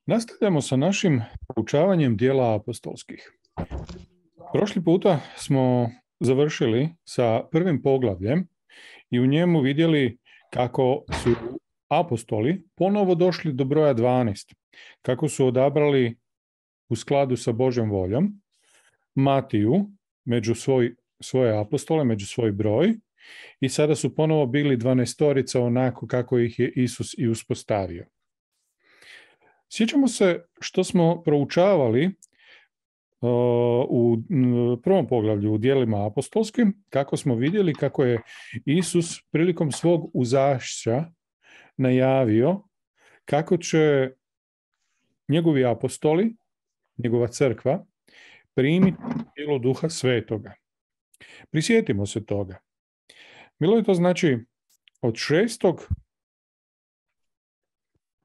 Nastavljamo sa našim proučavanjem dijela apostolskih. Prošli puta smo završili sa prvim poglavljem i u njemu vidjeli kako su apostoli ponovo došli do broja 12, kako su odabrali u skladu sa Božjom voljom Matiju među svoje apostole, među svoj broj, i sada su ponovo bili 12 onako kako ih je Isus i uspostavio. Sjećamo se što smo proučavali u prvom poglavlju u dijelima apostolskim, kako smo vidjeli kako je Isus prilikom svog uzašća najavio kako će njegovi apostoli, njegova crkva, primiti silu Duha Svetoga. Prisjetimo se toga. Bilo je to znači od 6.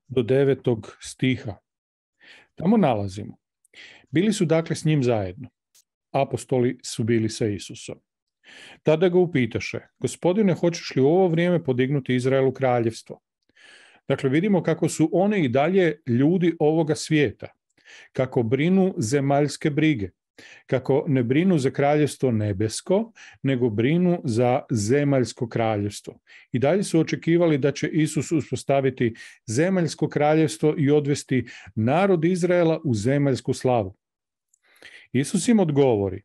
do 9. stiha. Tamo nalazimo. Bili su dakle s njim zajedno. Apostoli su bili sa Isusom. Tada ga upitaše: Gospodine, hoćeš li u ovo vrijeme podignuti Izraelu kraljevstvo? Dakle, vidimo kako su oni i dalje ljudi ovoga svijeta, kako brinu zemaljske brige, kako ne brinu za kraljevstvo nebesko, nego brinu za zemaljsko kraljevstvo. I dalje su očekivali da će Isus uspostaviti zemaljsko kraljevstvo i odvesti narod Izraela u zemaljsku slavu. Isus im odgovori: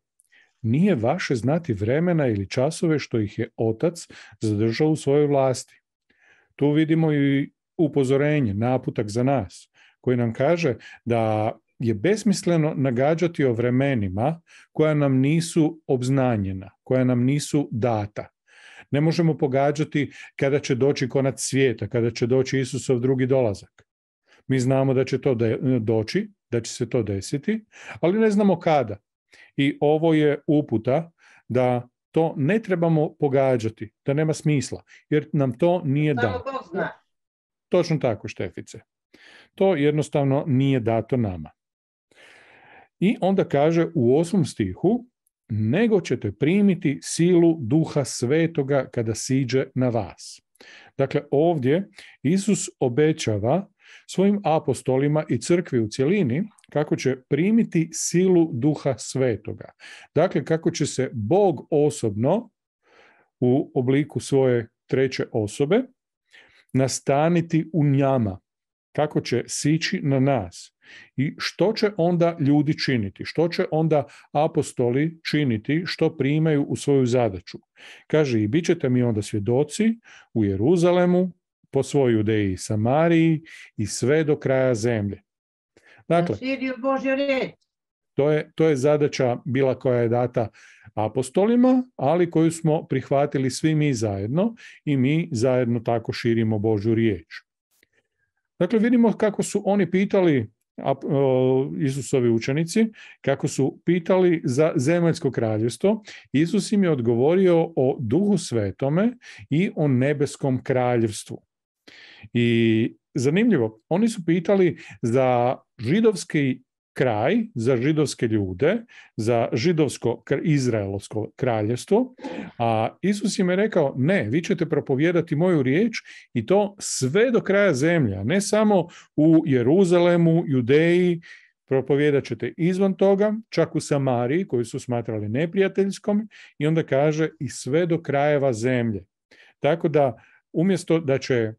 nije vaše znati vremena ili časove što ih je Otac zadržao u svojoj vlasti. Tu vidimo i upozorenje, naputak za nas, koji nam kaže da je besmisleno nagađati o vremenima koja nam nisu obznanjena, koja nam nisu data. Ne možemo pogađati kada će doći konac svijeta, kada će doći Isusov drugi dolazak. Mi znamo da će to doći, da će se to desiti, ali ne znamo kada. I ovo je uputa da to ne trebamo pogađati, da nema smisla, jer nam to nije dato. Točno tako, Štefice. To jednostavno nije dato nama. I onda kaže u 8. stihu: nego ćete primiti silu Duha Svetoga kada siđe na vas. Dakle, ovdje Isus obećava svojim apostolima i crkvi u cjelini kako će primiti silu Duha Svetoga. Dakle, kako će se Bog osobno u obliku svoje treće osobe nastaniti u njama, kako će sići na nas. I što će onda ljudi činiti? Što će onda apostoli činiti? Što primaju u svoju zadaću? Kaže: i bit ćete mi onda svjedoci u Jeruzalemu, po svoj Judeji i Samariji i sve do kraja zemlje. Dakle, to je zadaća bila koja je data apostolima, ali koju smo prihvatili svi mi zajedno i mi zajedno tako širimo Božju riječ. Dakle, vidimo kako su oni pitali, Isusovi učenici, kako su pitali za zemaljsko kraljevstvo. Isus im je odgovorio o Duhu Svetome i o nebeskom kraljevstvu. I zanimljivo, oni su pitali za židovski kraj, za židovske ljude, za židovsko izraelsko kraljevstvo, a Isus im je rekao: ne, vi ćete propovijedati moju riječ i to sve do kraja zemlje, ne samo u Jeruzalemu, Judeji, propovijedat ćete izvan toga, čak u Samariji, koju su smatrali neprijateljskom, i onda kaže i sve do krajeva zemlje. Tako da, umjesto da će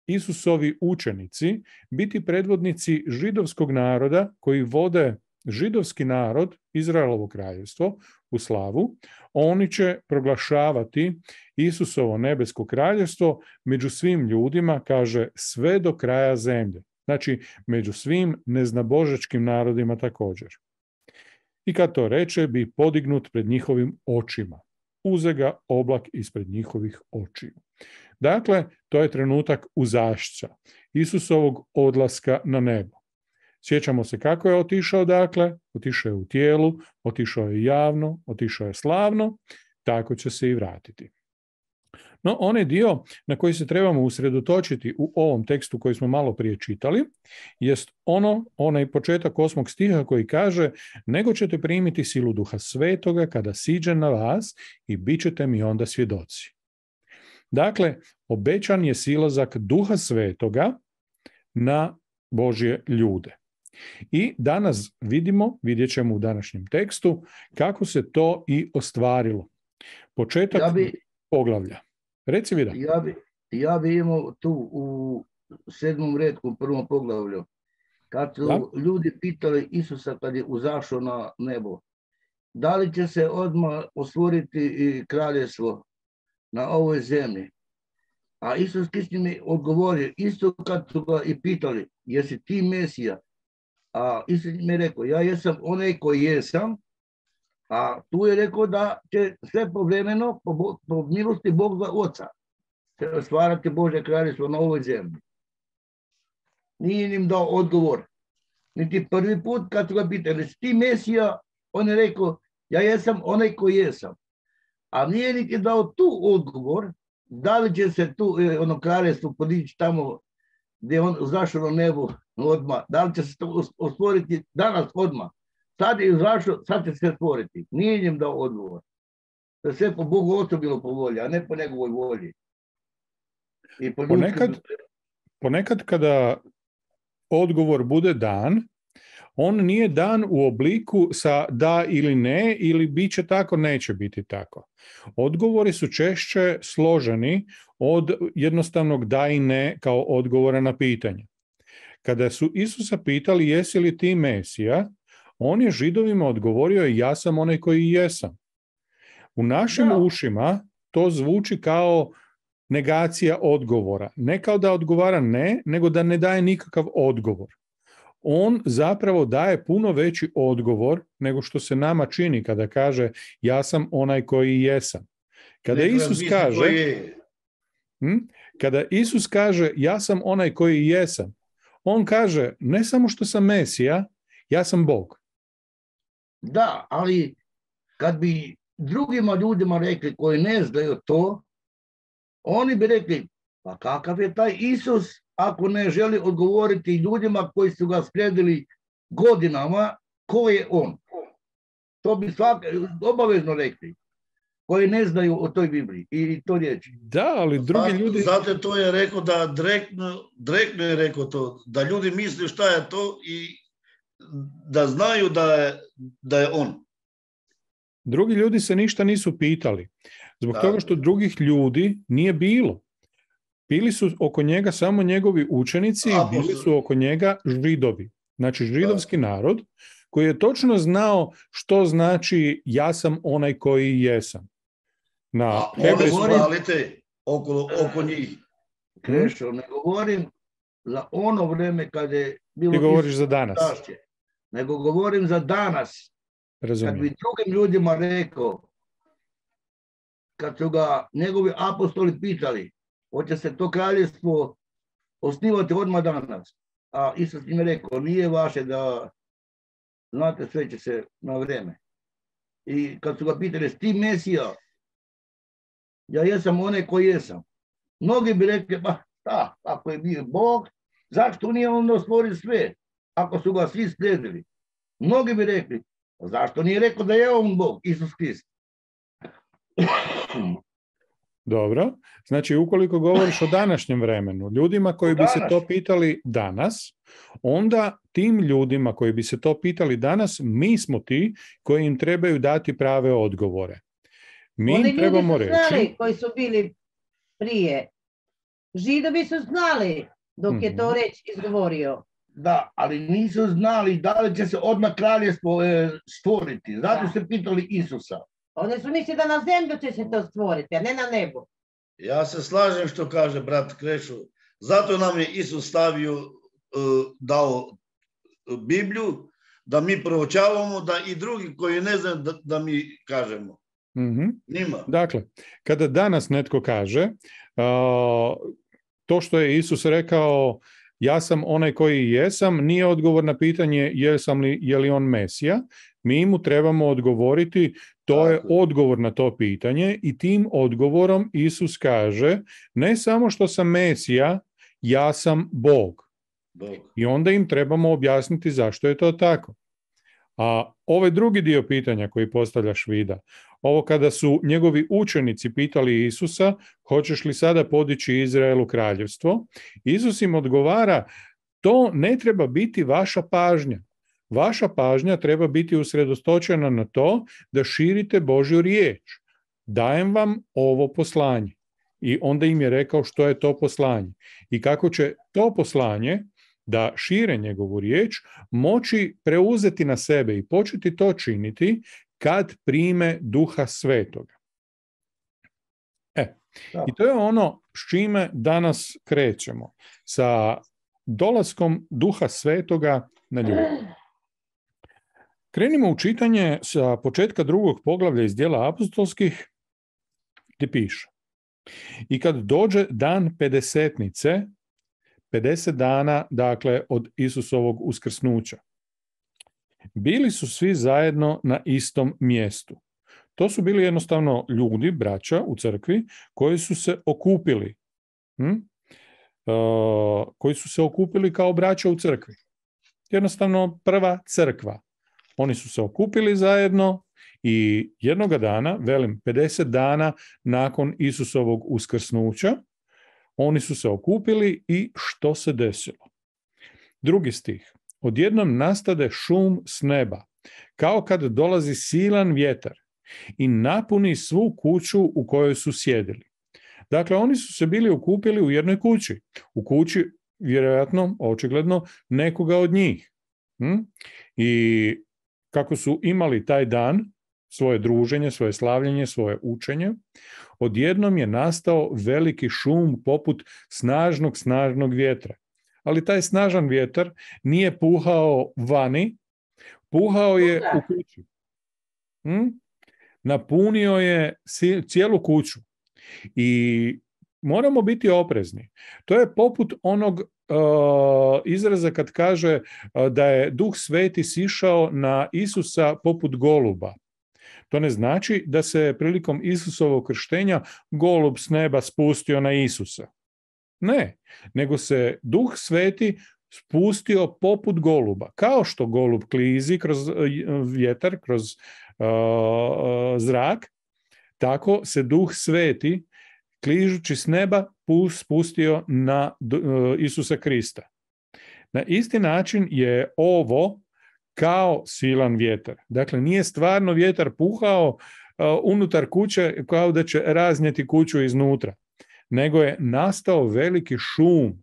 Isusovi učenici biti predvodnici židovskog naroda koji vode židovski narod, Izraelovo kraljevstvo, u slavu, oni će proglašavati Isusovo nebesko kraljevstvo među svim ljudima, kaže, sve do kraja zemlje. Znači, među svim neznabožačkim narodima također. I kad to reče, bi podignut pred njihovim očima. Uze ga oblak ispred njihovih očiju. Dakle, to je trenutak uzašća, Isusovog odlaska na nebo. Sjećamo se kako je otišao, dakle, otišao je u tijelu, otišao je javno, otišao je slavno, tako će se i vratiti. No, onaj dio na koji se trebamo usredotočiti u ovom tekstu koji smo malo prije čitali, jest onaj početak 8. stiha koji kaže: nego ćete primiti silu Duha Svetoga kada siđe na vas i bit ćete mi onda svjedoci. Dakle, obećan je silazak Duha Svetoga na Božje ljude. I danas vidjet ćemo u današnjem tekstu kako se to i ostvarilo. Početak poglavlja. Reci, Vida. Ja bi imao tu u 7. retku, u 1. poglavlju, kad su ljudi pitali Isusa kad je uzašao na nebo, da li će se odmah osvoriti kraljevstvo na ovoj zemlji? A Isus Krist mi odgovorio, isto kad su ga i pitali, jesi ti Mesija? A Isus mi je rekao, ja jesam onaj koji jesam, a tu je rekao da će sve povremeno, po milosti Boga Oca, se ostvarati Božje kraljevstvo na ovoj zemlji. Nije im dao odgovor. Niti prvi put kad su ga pitali, jesi ti Mesija? On je rekao, ja jesam onaj koji jesam. A nije niti dao tu odgovor, da li će se tu ono kraljevstvo podići tamo gdje on zašao na nebo odmah, da li će se to ostvoriti danas odmah. Sad je izašao, sad će se stvoriti. Nije im dao odgovor. To je sve po Bogu Ocu bilo po volji, a ne po njegovoj volji. I ponekad kada odgovor bude dan, on nije dan u obliku sa da ili ne, ili bit će tako, neće biti tako. Odgovori su češće složeni od jednostavnog da i ne kao odgovora na pitanje. Kada su Isusa pitali jesi li ti Mesija, on je Židovima odgovorio ja sam onaj koji jesam. U našim ušima to zvuči kao negacija odgovora. Ne kao da odgovara ne, nego da ne daje nikakav odgovor. On zapravo daje puno veći odgovor nego što se nama čini kada kaže ja sam onaj koji jesam. Kada Isus kaže ja sam onaj koji jesam, on kaže ne samo što sam Mesija, ja sam Bog. Da, ali kad bi drugima ljudima rekli koji ne znaju to, oni bi rekli, pa kakav je taj Isus ako ne želi odgovoriti ljudima koji su ga slijedili godinama, ko je on? To bi obavezno rekli, koji ne znaju o toj Bibliji i to riječi. Da, ali drugi ljudi... Zato to je rekao da direktno je rekao to, da ljudi misle šta je to i da znaju da je on. Drugi ljudi se ništa nisu pitali. Zbog toga što drugih ljudi nije bilo. Bili su oko njega samo njegovi učenici i bili su oko njega Židovi. Znači židovski narod koji je točno znao što znači ja sam onaj koji jesam. Na hebrejskom oko njih. Krešo, ne govorim za ono vreme kad je bilo... Ti govoriš za danas. Nego govorim za danas. Razumijem. Kad bi drugim ljudima rekao, kad su ga njegovi apostoli pitali, hoće se to kraljevstvo osnivati odmah danas. A Isus im je rekao, nije vaše da znate sve će se na vrijeme. I kad su ga pitali, ti Mesija, ja jesam onaj koji jesam. Mnogi bi rekli, pa šta, ako je bio Bog, zašto nije onda stvorio sve, ako su ga svi slijedili? Mnogi bi rekli, zašto nije rekao da je on Bog, Isus Krist? Dobro, znači ukoliko govoriš o današnjem vremenu, ljudima koji bi se to pitali danas, onda tim ljudima koji bi se to pitali danas, mi smo ti koji im trebaju dati prave odgovore. Mi im trebamo reći... Oni ljudi su znali koji su bili prije. Židovi su znali dok je to reč izgovorio. Da, ali nisu znali da li će se odmah kraljevstvo stvoriti. Zato se pitali Isusa. Oni su mislili da na zemlju će se to stvoriti, a ne na nebo. Ja se slažem što kaže brat Krešo. Zato nam je Isus dao Bibliju, da mi proučavamo, da i drugi koji ne znaju da mi kažemo. Njima. Dakle, kada danas netko kaže to što je Isus rekao ja sam onaj koji jesam, nije odgovor na pitanje je li on Mesija. Mi mu trebamo odgovoriti, to je odgovor na to pitanje i tim odgovorom Isus kaže ne samo što sam Mesija, ja sam Bog. I onda im trebamo objasniti zašto je to tako. A ovaj drugi dio pitanja koji postavljaš, Vida, ovo kada su njegovi učenici pitali Isusa, hoćeš li sada podići Izraelu kraljevstvo, Isus im odgovara, to ne treba biti vaša pažnja. Vaša pažnja treba biti usredotočena na to da širite Božju riječ. Dajem vam ovo poslanje. I onda im je rekao što je to poslanje. I kako će to poslanje, da šire njegovu riječ, moći preuzeti na sebe i početi to činiti kad prime Duha Svetoga. I to je ono s čime danas krećemo. Sa dolaskom Duha Svetoga na ljude. Krenimo u čitanje sa početka 2. poglavlja iz Djela apostolskih, gdje piše: I kad dođe dan pedesetnice, 50 dana, dakle, od Isusovog uskrsnuća, bili su svi zajedno na istom mjestu. To su bili jednostavno ljudi, braća u crkvi, koji su se okupili. Koji su se okupili kao braća u crkvi. Jednostavno prva crkva. Oni su se okupili zajedno i jednoga dana, 50 dana nakon Isusovog uskrsnuća, oni su se okupili i što se desilo? 2. stih. Odjednom nastade šum s neba, kao kad dolazi silan vjetar i napuni svu kuću u kojoj su sjedili. Dakle, oni su se bili okupili u jednoj kući. U kući, vjerojatno, očigledno, nekoga od njih. I kako su imali taj dan, svoje druženje, svoje slavljenje, svoje učenje, odjednom je nastao veliki šum poput snažnog vjetra. Ali taj snažan vjetar nije puhao vani, puhao je u kući. Napunio je cijelu kuću. I moramo biti oprezni. To je poput onog izraza kad kaže da je Duh Sveti sišao na Isusa poput goluba. To ne znači da se prilikom Isusovog krštenja golub s neba spustio na Isusa. Ne, nego se Duh Sveti spustio poput goluba. Kao što golub klizi kroz vjetar, kroz zrak, tako se Duh Sveti kližući s neba spustio na Isusa Krista. Na isti način je ovo kao silan vjetar. Dakle, nije stvarno vjetar puhao unutar kuće kao da će raznijeti kuću iznutra, nego je nastao veliki šum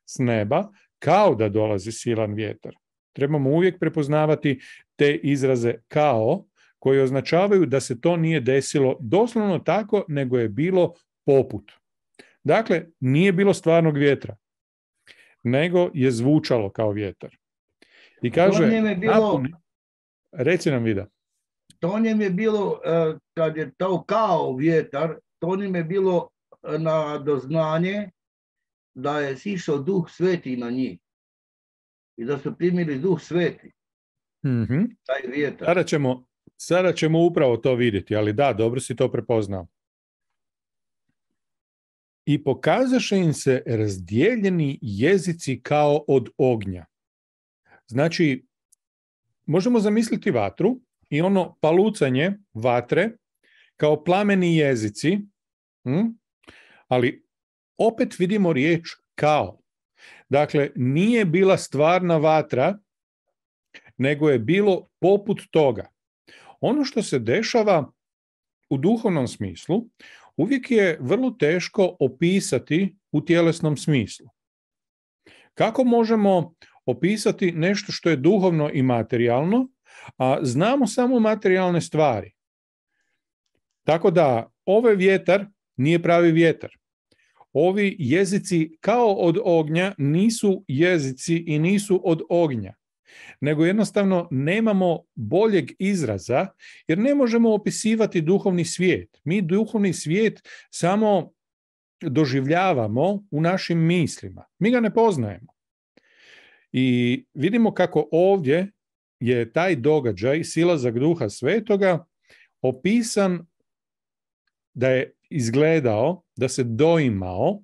s neba kao da dolazi silan vjetar. Trebamo uvijek prepoznavati te izraze kao, koji označavaju da se to nije desilo doslovno tako, nego je bilo poput. Dakle, nije bilo stvarnog vjetra, nego je zvučalo kao vjetar. I kaže, reci nam, Vida. To njem je bilo, kad je to kao vjetar, to njem je bilo na doznanje da je sišao Duh Sveti na njih. I da su primili Duh Sveti. Taj vjetar. Sada ćemo upravo to vidjeti, ali da, dobro si to prepoznao. I pokazaše im se razdijeljeni jezici kao od ognja. Znači, možemo zamisliti vatru i ono palucanje vatre kao plameni jezici, ali opet vidimo riječ kao. Dakle, nije bila stvarna vatra, nego je bilo poput toga. Ono što se dešava u duhovnom smislu uvijek je vrlo teško opisati u tjelesnom smislu. Kako možemo opisati nešto što je duhovno i materijalno, a znamo samo materijalne stvari? Tako da ovaj vjetar nije pravi vjetar. Ovi jezici kao od ognja nisu jezici i nisu od ognja, nego jednostavno nemamo boljeg izraza jer ne možemo opisivati duhovni svijet. Mi duhovni svijet samo doživljavamo u našim mislima. Mi ga ne poznajemo. I vidimo kako ovdje je taj događaj, silazak Duha Svetoga, opisan da je izgledao, da se doimao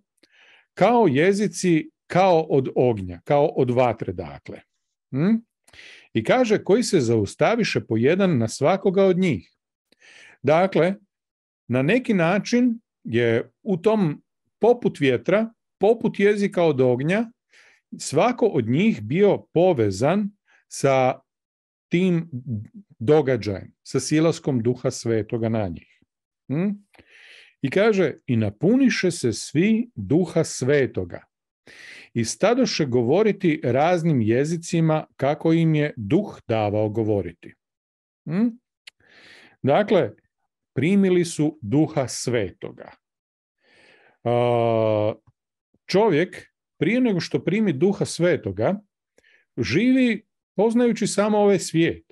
kao jezici kao od ognja, kao od vatre, dakle. I kaže, koji se zaustaviše po jedan na svakoga od njih. Dakle, na neki način je u tom poput vjetra, poput jezika od ognja, svako od njih bio povezan sa tim događajem, sa silaskom Duha Svetoga na njih. I kaže, i napuniše se svi Duha Svetoga i stadoše govoriti raznim jezicima kako im je Duh davao govoriti. Dakle, primili su Duha Svetoga. Čovjek, prije nego što primi Duha Svetoga, živi poznajući samo ovaj svijet.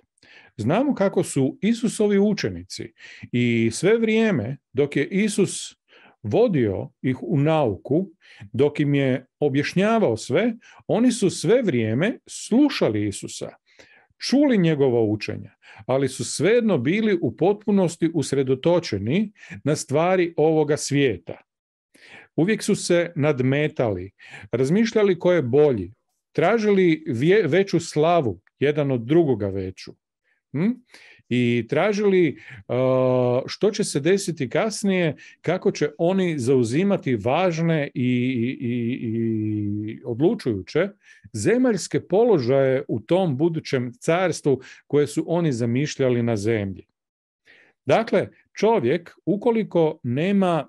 Znamo kako su Isusovi učenici i sve vrijeme dok je Isus vodio ih u nauku, dok im je objašnjavao sve, oni su sve vrijeme slušali Isusa, čuli njegova učenja, ali su svejedno bili u potpunosti usredotočeni na stvari ovoga svijeta. Uvijek su se nadmetali, razmišljali ko je bolji, tražili veću slavu, jedan od drugoga veću. I tražili što će se desiti kasnije, kako će oni zauzimati važne i odlučujuće zemaljske položaje u tom budućem carstvu koje su oni zamišljali na zemlji. Dakle, čovjek, ukoliko nema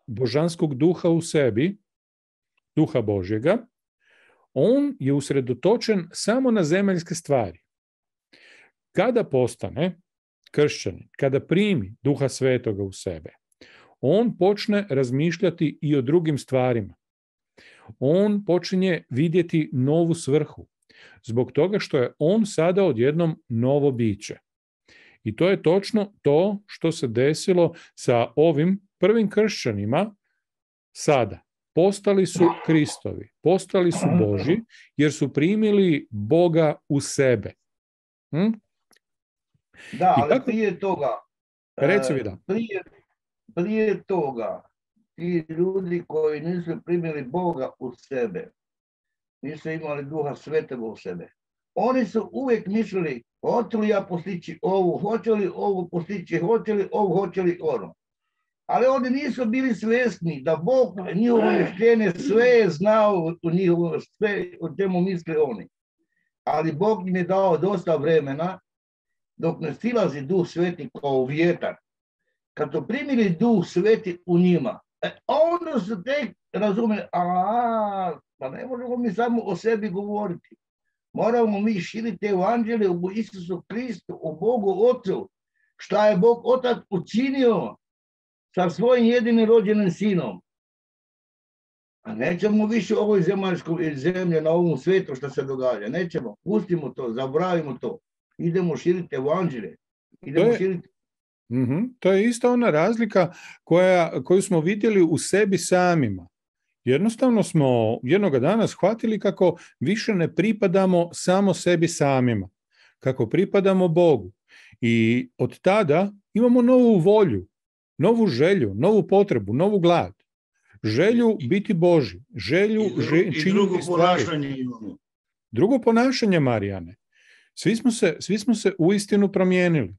božanskog duha u sebi, duha Božjega, on je usredotočen samo na zemaljske stvari. Kada postane kršćanin, kada primi Duha Svetoga u sebe, on počne razmišljati i o drugim stvarima. On počinje vidjeti novu svrhu, zbog toga što je on sada odjednom novo biće. I to je točno to što se desilo sa ovim prvim kršćanima sada. Postali su Kristovi, postali su Božji, jer su primili Boga u sebe. Da, ali prije toga, reci mi da. Prije toga, ti ljudi koji nisu primili Boga u sebe, nisu imali Duha Svetoga u sebe, oni su uvijek mislili, hoću li ja postići ovu, hoću li ovu postići, hoću li ono. Ali oni nisu bili svjesni da Bog njihovo mišljenje sve je znao u njihovo, sve o čemu misle oni. Ali Bog im je dao dosta vremena dok ne silazi Duh Sveti kao vjetar. Kad su primili Duh Sveti u njima, onda su tek razumeli, pa ne možemo mi samo o sebi govoriti. Moramo mi širiti evanđelje u Isusu Kristu, u Bogu Otcu, šta je Bog Otac učinio sa svojim jedinim rođenim sinom. A nećemo više u ovoj zemaljskoj zemlji, na ovom svijetu što se događa. Nećemo, pustimo to, zabravimo to. Idemo širiti evanđelje. To je ista ona razlika koju smo vidjeli u sebi samima. Jednostavno smo jednoga dana shvatili kako više ne pripadamo samo sebi samima, kako pripadamo Bogu. I od tada imamo novu volju, novu želju, novu potrebu, novu glad. Želju biti Božji, želju činiti drugo stvari. Ponašanje imamo. Drugo ponašanje, Marijane. Svi smo se uistinu promijenili.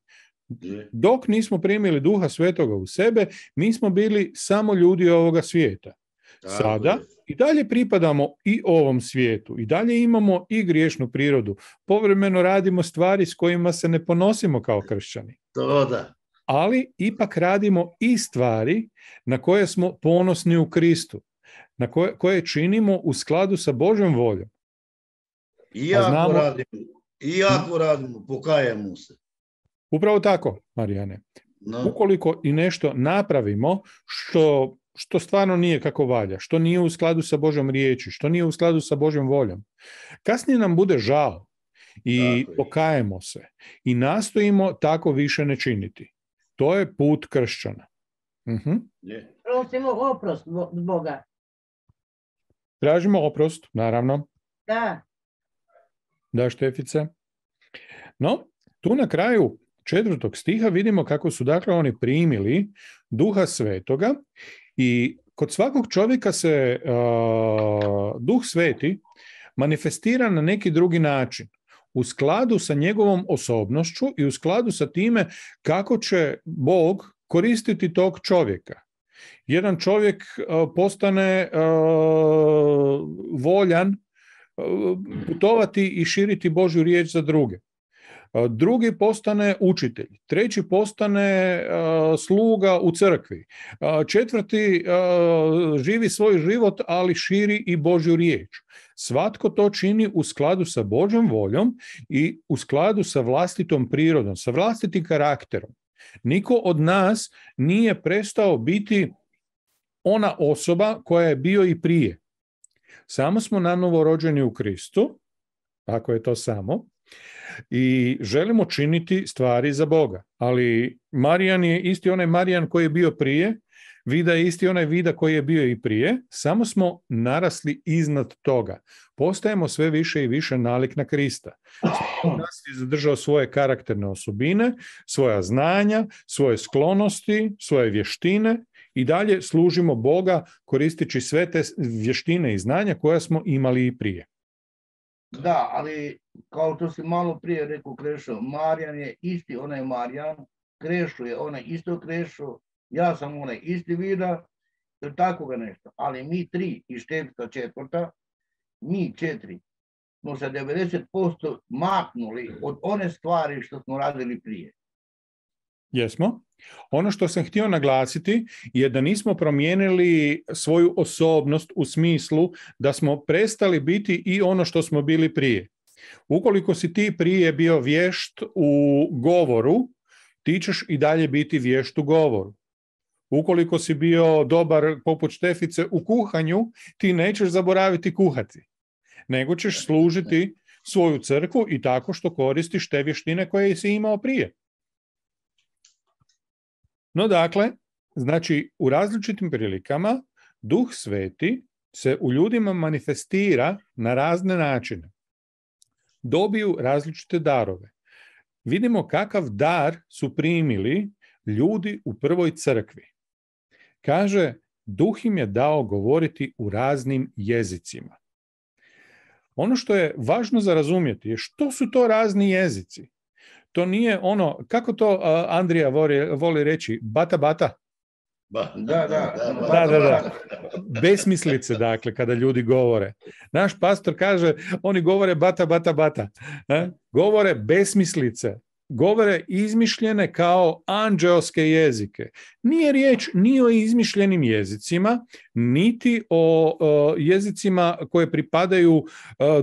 Dok nismo primili Duha Svetoga u sebe, mi smo bili samo ljudi ovoga svijeta. Sada i dalje pripadamo i ovom svijetu, i dalje imamo i griješnu prirodu. Povremeno radimo stvari s kojima se ne ponosimo kao kršćani. To da. Ali ipak radimo i stvari na koje smo ponosni u Kristu, na koje činimo u skladu sa Božjom voljom. Iako radimo, pokajemo se. Upravo tako, Marijane. No. Ukoliko i nešto napravimo što stvarno nije kako valja, što nije u skladu sa Božjom riječi, što nije u skladu sa Božjom voljom, kasnije nam bude žao i pokajemo se i nastojimo tako više ne činiti. To je put kršćana. Prosimo oprost Boga. Tražimo oprost, naravno. Da. Da, Štefice. No, tu na kraju 4. stiha vidimo kako su dakle oni primili Duha Svetoga i kod svakog čovjeka se Duh Sveti manifestira na neki drugi način, u skladu sa njegovom osobnošću i u skladu sa time kako će Bog koristiti tog čovjeka. Jedan čovjek postane voljan putovati i širiti Božju riječ za druge. Drugi postane učitelj, treći postane sluga u crkvi, četvrti živi svoj život, ali širi i Božju riječ. Svatko to čini u skladu sa Božjom voljom i u skladu sa vlastitom prirodom, sa vlastitim karakterom. Niko od nas nije prestao biti ona osoba koja je bio i prije. Samo smo nanovo rođeni u Kristu, tako je to samo, i želimo činiti stvari za Boga. Ali Marijan je isti onaj Marijan koji je bio prije, Vida je isti onaj Vida koji je bio i prije, samo smo narasli iznad toga. Postajemo sve više i više nalik na Krista. Nas je zadržao svoje karakterne osobine, svoja znanja, svoje sklonosti, svoje vještine i dalje služimo Boga koristeći sve te vještine i znanja koja smo imali i prije. Da, ali kao to si malo prije rekao, Krešo, Marijan je isti onaj Marijan, Krešo je onaj isto Krešo, ja sam onaj isti Vida, tako ga nešto. Ali mi tri i Štefka četvrta, mi četiri, smo se 90% maknuli od one stvari što smo radili prije. Jesmo. Ono što sam htio naglasiti je da nismo promijenili svoju osobnost u smislu da smo prestali biti i ono što smo bili prije. Ukoliko si ti prije bio vješt u govoru, ti ćeš i dalje biti vješt u govoru. Ukoliko si bio dobar poput Štefice u kuhanju, ti nećeš zaboraviti kuhati, nego ćeš služiti svoju crkvu i tako što koristiš te vještine koje si imao prije. No dakle, znači u različitim prilikama Duh Sveti se u ljudima manifestira na razne načine. Dobiju različite darove. Vidimo kakav dar su primili ljudi u prvoj crkvi. Kaže, Duh im je dao govoriti u raznim jezicima. Ono što je važno za razumjeti je što su to razni jezici. To nije ono, kako to Andrija voli reći, bata bata? Da. Besmislice, dakle, kada ljudi govore. Naš pastor kaže, oni govore bata, bata, bata. Govore besmislice. Govore izmišljene kao anđeoske jezike. Nije riječ ni o izmišljenim jezicima, niti o jezicima koje pripadaju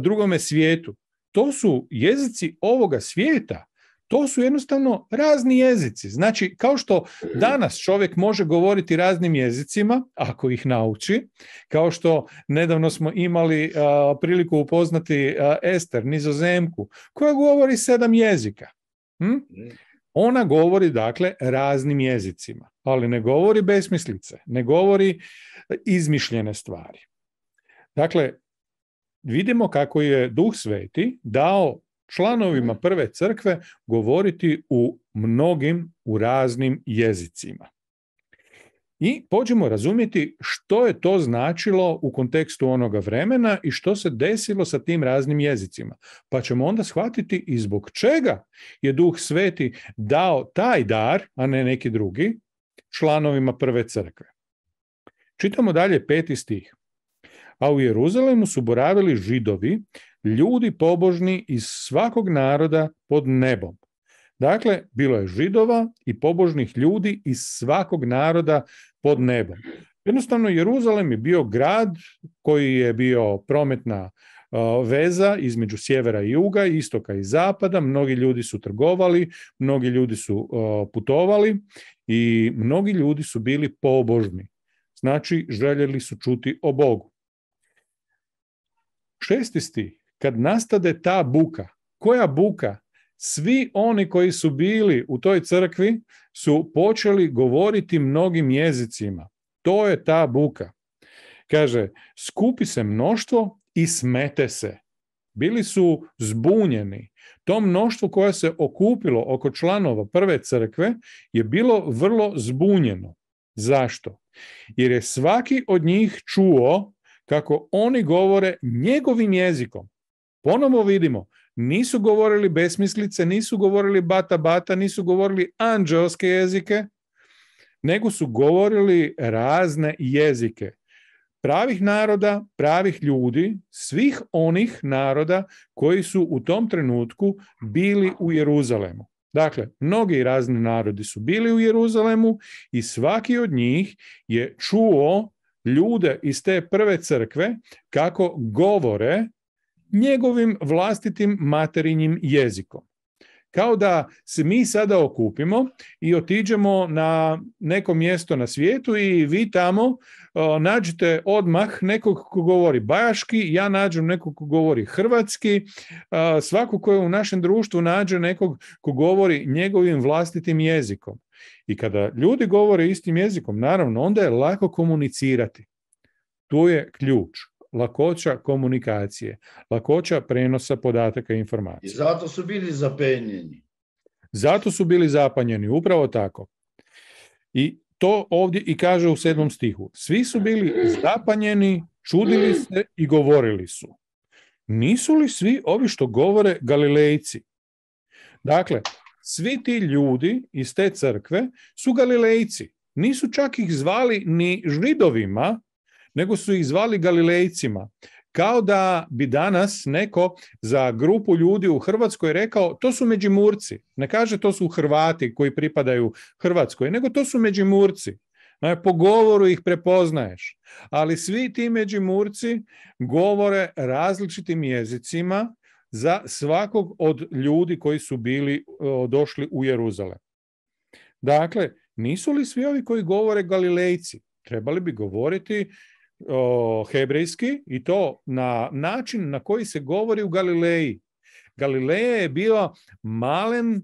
drugome svijetu. To su jezici ovoga svijeta. To su jednostavno razni jezici. Znači, kao što danas čovjek može govoriti raznim jezicima, ako ih nauči, kao što nedavno smo imali priliku upoznati Ester, Nizozemku, koja govori 7 jezika. Ona govori, dakle, raznim jezicima, ali ne govori besmislice, ne govori izmišljene stvari. Dakle, vidimo kako je Duh Sveti dao članovima prve crkve govoriti u raznim jezicima. I pođemo razumjeti što je to značilo u kontekstu onoga vremena i što se desilo sa tim raznim jezicima. Pa ćemo onda shvatiti i zbog čega je Duh Sveti dao taj dar, a ne neki drugi, članovima prve crkve. Čitamo dalje 5. stih. A u Jeruzalemu su boravili Židovi, ljudi pobožni iz svakog naroda pod nebom. Dakle, bilo je Židova i pobožnih ljudi iz svakog naroda pod nebom. Jednostavno, Jeruzalem je bio grad koji je bio prometna veza između sjevera i juga, istoka i zapada. Mnogi ljudi su trgovali, mnogi ljudi su putovali i mnogi ljudi su bili pobožni. Znači, željeli su čuti o Bogu. 6. stih. Kad nastade ta buka, koja buka? Svi oni koji su bili u toj crkvi su počeli govoriti mnogim jezicima. To je ta buka. Kaže, skupi se mnoštvo i smete se. Bili su zbunjeni. To mnoštvo koje se okupilo oko članova prve crkve je bilo vrlo zbunjeno. Zašto? Jer je svaki od njih čuo kako oni govore njegovim jezikom. Ponovo vidimo, nisu govorili besmislice, nisu govorili bata bata, nisu govorili anđeoske jezike, nego su govorili razne jezike. pravih naroda, pravih ljudi, svih onih naroda koji su u tom trenutku bili u Jeruzalemu. Dakle, mnogi razni narodi su bili u Jeruzalemu i svaki od njih je čuo ljude iz te prve crkve kako govore njegovim vlastitim materinjim jezikom. Kao da se mi sada okupimo i otiđemo na neko mjesto na svijetu i vi tamo nađete odmah nekog ko govori bajaški, ja nađem nekog ko govori hrvatski, svako ko je u našem društvu nađe nekog ko govori njegovim vlastitim jezikom. I kada ljudi govore istim jezikom, naravno, onda je lako komunicirati. Tu je ključ. Lakoća komunikacije, lakoća prenosa podataka i informacija. I zato su bili zapanjeni. Zato su bili zapanjeni, upravo tako. I to ovdje i kaže u 7. stihu. Svi su bili zapanjeni, čudili se i govorili su. Nisu li svi ovi što govore Galilejci? Dakle, svi ti ljudi iz te crkve su Galilejci. Nisu čak ih zvali ni Židovima, nego su ih zvali Galilejcima. Kao da bi danas neko za grupu ljudi u Hrvatskoj rekao to su Međimurci. Ne kaže to su Hrvati koji pripadaju Hrvatskoj, nego to su Međimurci. Po govoru ih prepoznaješ. Ali svi ti Međimurci govore različitim jezicima za svakog od ljudi koji su bili došli u Jeruzalem. Dakle, nisu li svi ovi koji govore Galilejci? Trebali bi govoriti hebrejski i to na način na koji se govori u Galileji. Galileja je bio malen,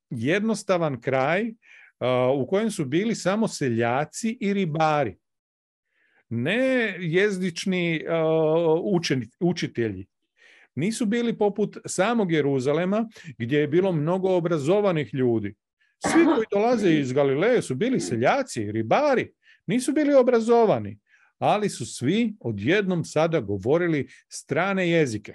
jednostavan kraj u kojem su bili samo seljaci i ribari. Ne jezični učitelji. Nisu bili poput samog Jeruzalema gdje je bilo mnogo obrazovanih ljudi. Svi koji dolaze iz Galileje su bili seljaci, ribari. Nisu bili obrazovani, ali su svi odjednom sada govorili strane jezike.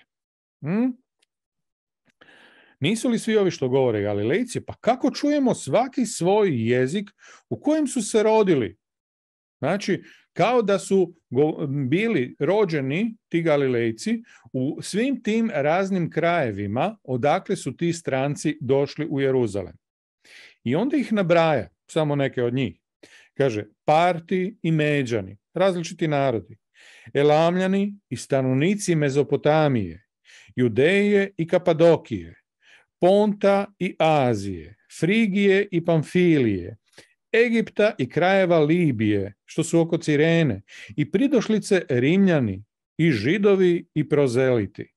Nisu li svi ovi što govore Galilejci? Pa kako čujemo svaki svoj jezik u kojem su se rodili? Znači, kao da su bili rođeni ti Galilejci u svim tim raznim krajevima odakle su ti stranci došli u Jeruzalem. I onda ih nabraja, samo neke od njih. Kaže, Parti i Međani, različiti narodi, Elamljani i stanovnici Mezopotamije, Judeje i Kapadokije, Ponta i Azije, Frigije i Pamfilije, Egipta i krajeva Libije, što su oko Cirene, i pridošlice Rimljani, i Židovi i prozeliti.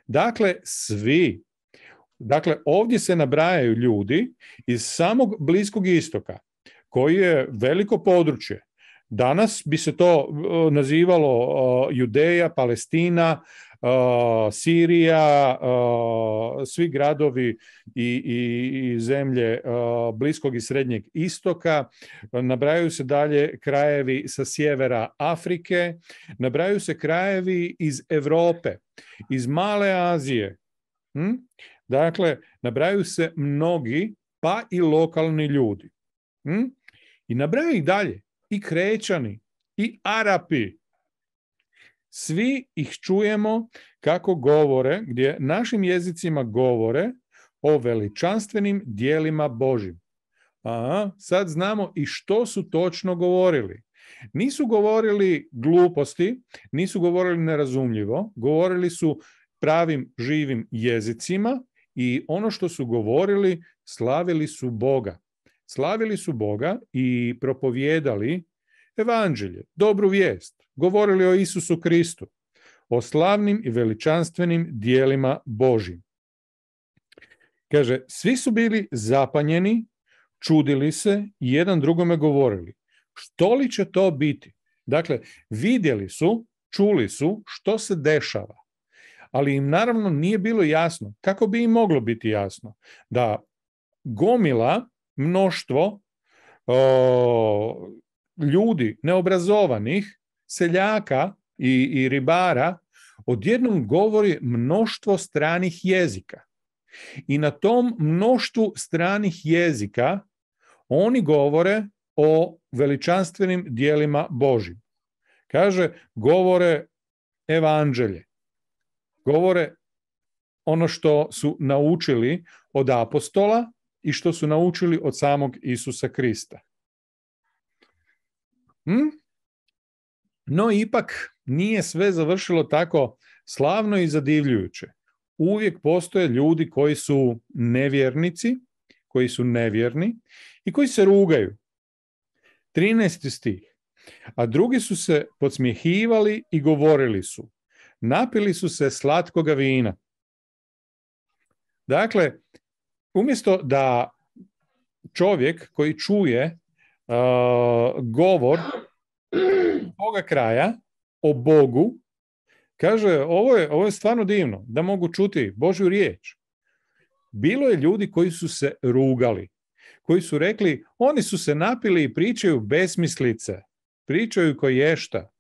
Dakle, svi. Dakle, ovdje se nabrajaju ljudi iz samog Bliskog istoka, koji je veliko područje. Danas bi se to nazivalo Judeja, Palestina, Sirija, svi gradovi i zemlje Bliskog i Srednjeg istoka. Nabrajaju se dalje krajevi sa sjevera Afrike, nabrajaju se krajevi iz Europe, iz Male Azije. Dakle, nabrajaju se mnogi, pa i lokalni ljudi. I nabrajaju ih dalje. I Krećani, i Arapi. Svi ih čujemo kako govore, gdje našim jezicima govore o veličanstvenim dijelima Božjim. Sad znamo i što su točno govorili. Nisu govorili gluposti, nisu govorili nerazumljivo, govorili su pravim živim jezicima i ono što su govorili, slavili su Boga. Slavili su Boga i propovijedali evanđelje, dobru vijest, govorili o Isusu Kristu, o slavnim i veličanstvenim dijelima Božjim. Kaže, svi su bili zapanjeni, čudili se i jedan drugome govorili. Što li će to biti? Dakle, vidjeli su, čuli su što se dešava, ali im naravno nije bilo jasno, kako bi im moglo biti jasno, da gomila, mnoštvo ljudi neobrazovanih, seljaka i ribara odjednom govori mnoštvo stranih jezika. I na tom mnoštvu stranih jezika oni govore o veličanstvenim dijelima Božjim. Kaže, govore evanđelje. Govore ono što su naučili od apostola i što su naučili od samog Isusa Krista. No ipak nije sve završilo tako slavno i zadivljujuće. Uvijek postoje ljudi koji su nevjernici, koji su nevjerni i koji se rugaju. 13. stih. A drugi su se podsmjehivali i govorili su. Napili su se slatkoga vina. Dakle, umjesto da čovjek koji čuje govor toga kraja o Bogu, kaže, ovo je stvarno divno, da mogu čuti Božju riječ. Bilo je ljudi koji su se rugali, koji su rekli, oni su se napili i pričaju besmislice, pričaju koješta.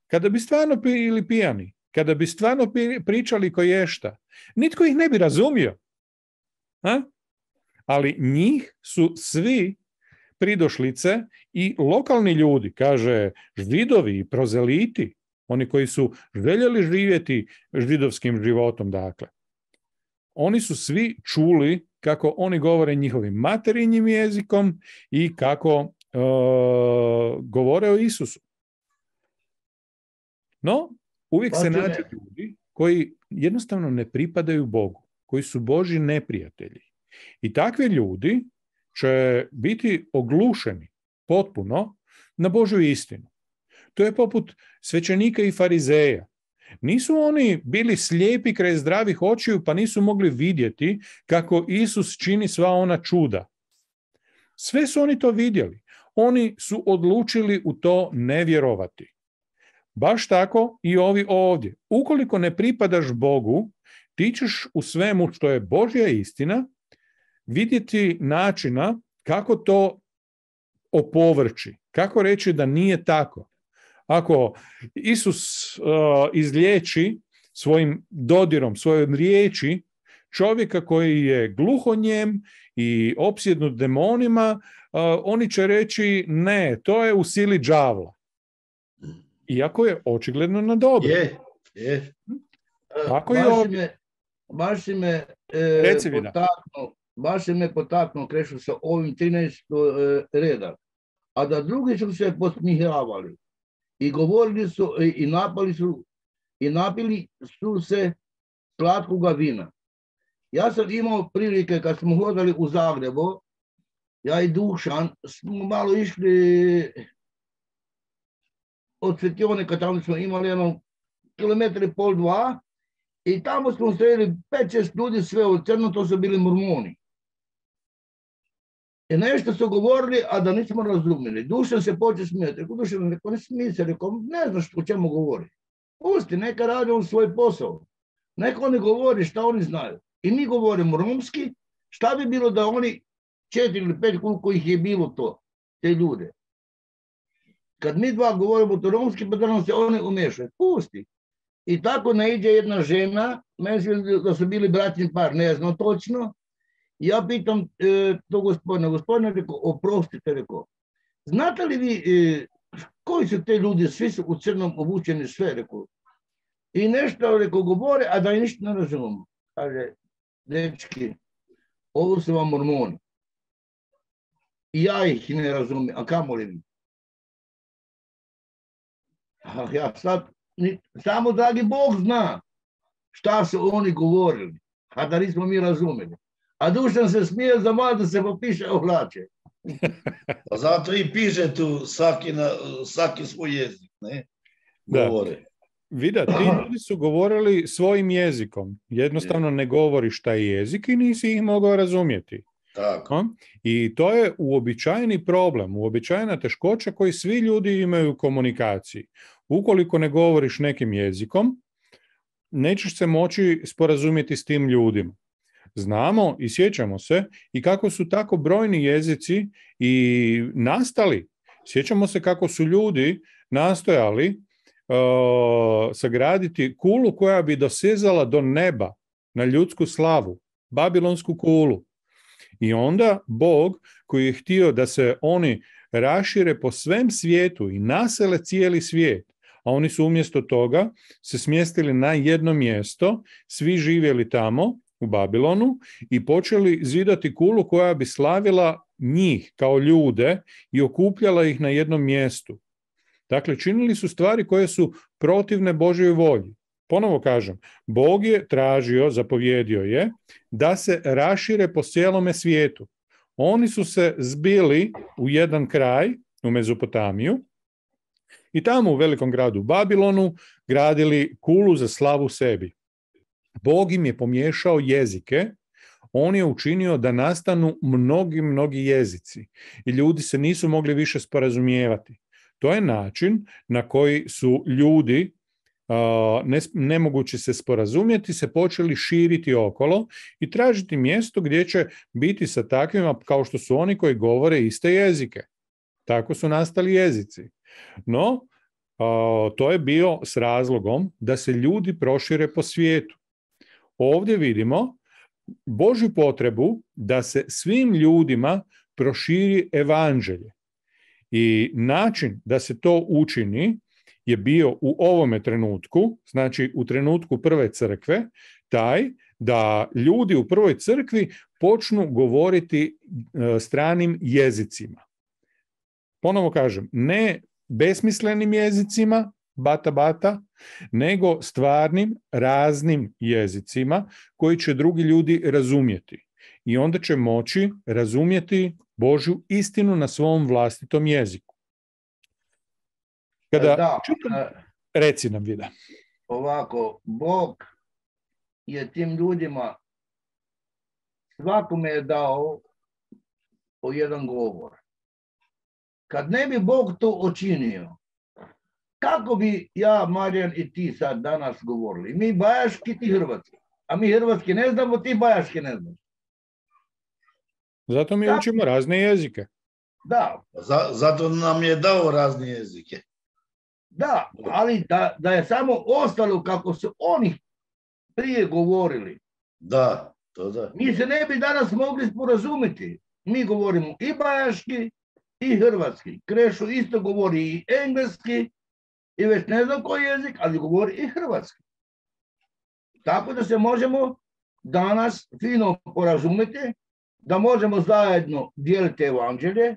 Kada bi stvarno bili pijani, kada bi stvarno pričali koješta, nitko ih ne bi razumio. Ali njih su svi pridošlice i lokalni ljudi, kaže Židovi i prozeliti, oni koji su željeli živjeti židovskim životom, dakle. Oni su svi čuli kako oni govore njihovim materinjim jezikom i kako govore o Isusu. No, uvijek se nađu ljudi koji jednostavno ne pripadaju Bogu, koji su Božji neprijatelji. I takvi ljudi će biti oglušeni potpuno na Božju istinu. To je poput svećenika i farizeja. Nisu oni bili slijepi kraj zdravih očiju pa nisu mogli vidjeti kako Isus čini sva ona čuda. Sve su oni to vidjeli. Oni su odlučili u to ne vjerovati. Baš tako i ovi ovdje. Ukoliko ne pripadaš Bogu, ti ćeš u svemu što je Božja istina vidjeti načina kako to opovrći, kako reći da nije tako. Ako Isus izliječi svojim dodirom, svojom riječi čovjeka koji je gluhonjem i opsjednut demonima, oni će reći ne, to je u sili đavla. Iako je očigledno na dobro. Je. Tako baš si me potaknuo, Krešu, sa ovim 13. reda. A da drugi su se podsmijavali i govorili su i napili su se slatkoga vina. Ja sam imao prilike kad smo hodali u Zagrebu, ja i Dušan, smo malo išli od Svetionika, tamo smo imali jedno 1,5 – 2 i tamo smo sreli 5-6 ljudi sve u crno, to su bili mormoni. I nešto su govorili, a da nismo razumjeli. Dušan se počeo smijeti. Rekao, Dušan, ne smije se, rekao, ne znaš o čemu govori. Pusti, neka radi on svoj posao. Neka oni govori šta oni znaju. I mi govorimo romski, šta bi bilo da oni 4 ili 5 koliko ih je bilo to, te ljude. Kad mi dva govorimo to romski, pa da nam se oni umješaju. Pusti. I tako naiđe jedna žena, mislim da su bili bračni par, ne znam točno. Ja pitam to gospodine, rekao, oprostite, rekao, znate li vi koji su te ljudi, svi su u crnom obučeni sve, rekao. I nešto, rekao, govore, a da i ništa ne razumemo. Kaže, dečki, ovo su vam mormoni. I ja ih ne razumijem, a kamo li vi? Ja sad, samo dragi Bog zna šta su oni govorili, a da nismo mi razumeli. A Dušan se smije za malo da se popiše ohlače. Pa zato i piše tu svaki svoj jezik, ne? Govore. Vida, ti ljudi su govorili svojim jezikom. Jednostavno ne govoriš taj jezik i nisi ih mogao razumjeti. Tako. I to je uobičajeni problem, uobičajena teškoća koji svi ljudi imaju u komunikaciji. Ukoliko ne govoriš nekim jezikom, nećeš se moći sporazumjeti s tim ljudima. Znamo i sjećamo se i kako su tako brojni jezici i nastali. Sjećamo se kako su ljudi nastojali sagraditi kulu koja bi dosezala do neba na ljudsku slavu, babilonsku kulu. I onda Bog, koji je htio da se oni rašire po svem svijetu i nasele cijeli svijet, a oni su umjesto toga se smjestili na jedno mjesto, svi živjeli tamo u Babilonu i počeli zidati kulu koja bi slavila njih kao ljude i okupljala ih na jednom mjestu. Dakle, činili su stvari koje su protivne Božjoj volji. Ponovo kažem, Bog je tražio, zapovjedio je, da se rašire po cijelome svijetu. Oni su se zbili u jedan kraj, u Mezopotamiju, i tamo u velikom gradu Babilonu gradili kulu za slavu sebi. Bog im je pomiješao jezike, on je učinio da nastanu mnogi jezici i ljudi se nisu mogli više sporazumijevati. To je način na koji su ljudi, nemogući se sporazumjeti, se počeli širiti okolo i tražiti mjesto gdje će biti sa takvima kao što su oni koji govore iste jezike. Tako su nastali jezici. No, to je bio s razlogom da se ljudi prošire po svijetu. Ovdje vidimo Božju potrebu da se svim ljudima proširi evanđelje. I način da se to učini je bio u ovome trenutku, znači u trenutku prve crkve, taj da ljudi u prvoj crkvi počnu govoriti stranim jezicima. Ponovo kažem, ne besmislenim jezicima, bata, nego stvarnim, raznim jezicima koji će drugi ljudi razumjeti. I onda će moći razumjeti Božju istinu na svom vlastitom jeziku. Kada reci nam, Vida. Ovako, Bog je tim ljudima svakome je dao po jedan govor. Kad ne bi Bog to učinio, kako bi ja, Marijan i ti sad danas govorili? Mi bajaški, ti hrvatski. A mi hrvatski ne znamo, ti bajaški ne znaš. Zato mi učimo razne jezike. Da. Zato nam je dao razne jezike. Da, ali da je samo ostalo kako su oni prije govorili. Da, to da. Mi se ne bi danas mogli sporazumiti. Mi govorimo i bajaški i hrvatski. Krešo isto govori i engleski i već ne znam koji jezik, ali govori i hrvatski. Tako da se možemo danas fino porazumjeti, da možemo zajedno dijeliti evanđelje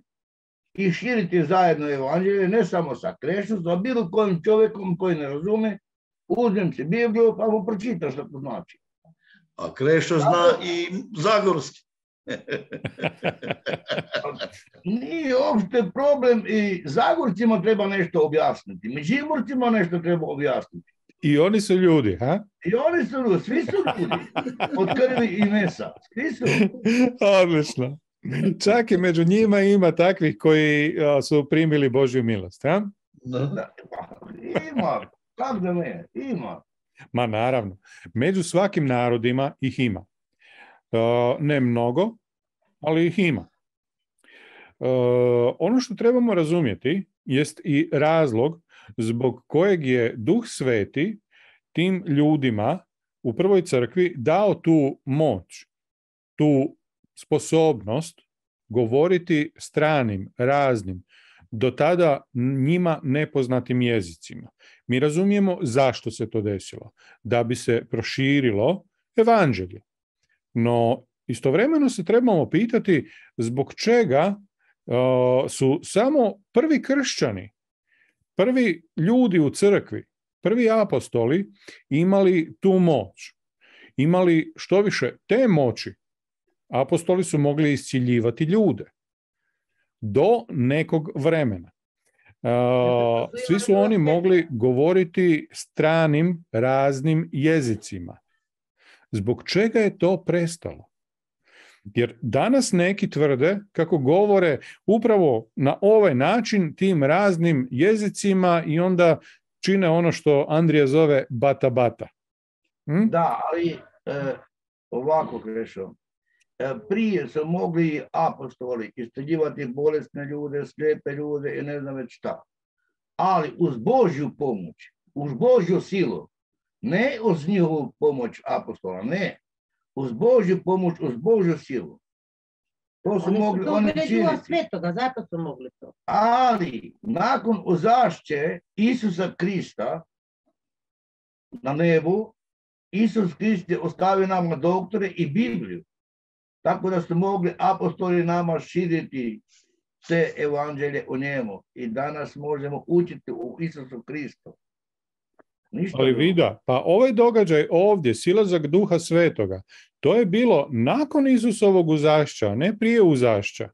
i širiti zajedno evanđelje, ne samo sa Krešom, sa bilo kojim čovjekom koji ne razume, uzmem si Bibliju pa mu pročita što to znači. A Krešo zna i zagorski. Nije uopšte problem i Zagorcima treba nešto objasniti, Međimurcima nešto treba objasniti. I oni su ljudi, ha? I oni su ljudi, svi su ljudi, od krvi i mesa, svi su. Odlično. Čak i među njima ima takvih koji su primili Božju milost, ha? Ima, kako da ne, ima. Ma naravno, među svakim narodima ih ima. Ne mnogo, ali ih ima. Ono što trebamo razumjeti jest i razlog zbog kojeg je Duh Sveti tim ljudima u prvoj crkvi dao tu moć, tu sposobnost govoriti stranim, raznim, do tada njima nepoznatim jezicima. Mi razumijemo zašto se to desilo, da bi se proširilo evanđelje. No, istovremeno se trebamo pitati zbog čega su samo prvi kršćani, prvi ljudi u crkvi, prvi apostoli imali tu moć. Imali što više te moći. Apostoli su mogli isciljivati ljude do nekog vremena. Svi su oni mogli govoriti stranim, raznim jezicima. Zbog čega je to prestalo? Jer danas neki tvrde kako govore upravo na ovaj način tim raznim jezicima i onda čine ono što Andrija zove bata. Da, ali ovako Krešo. Prije su mogli apostoli isciljivati bolesne ljude, slijepe ljude i ne znam već šta. Ali uz Božju pomoć, uz Božju silu, ne uz njihovu pomoć apostola, ne. Uz Božju pomoć, uz Božju silu. To su Oni mogli su to oni bili Duha činiti. Svetoga, zato su mogli to. Ali nakon uzašće Isusa Krista na nebu, Isus Krist je ostavio nama doktore i Bibliju. Tako da su mogli apostoli nama širiti sve evanđelje o njemu. I danas možemo učiti u Isusu Kristu. Ništa Ali drugo. vida, pa ovaj događaj ovdje, silazak Duha Svetoga, to je bilo nakon Isusovog uzašća, a ne prije uzašća.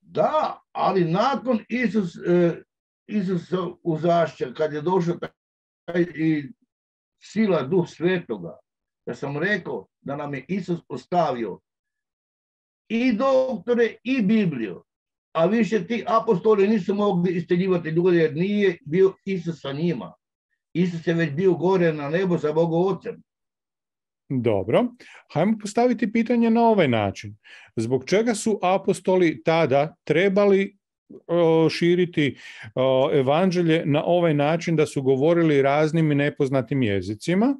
Da, ali nakon Isusa uzašća, kad je došao taj i sila Duh Svetoga, da sam rekao da nam je Isus ostavio i doktore i Bibliju, a više ti apostoli nisu mogli isteljivati ljude jer nije bio Isus sa njima. Isus je već bio gore na nebo sa Bogom Ocem. Dobro, hajmo postaviti pitanje na ovaj način. Zbog čega su apostoli tada trebali širiti evanđelje na ovaj način da su govorili raznim i nepoznatim jezicima,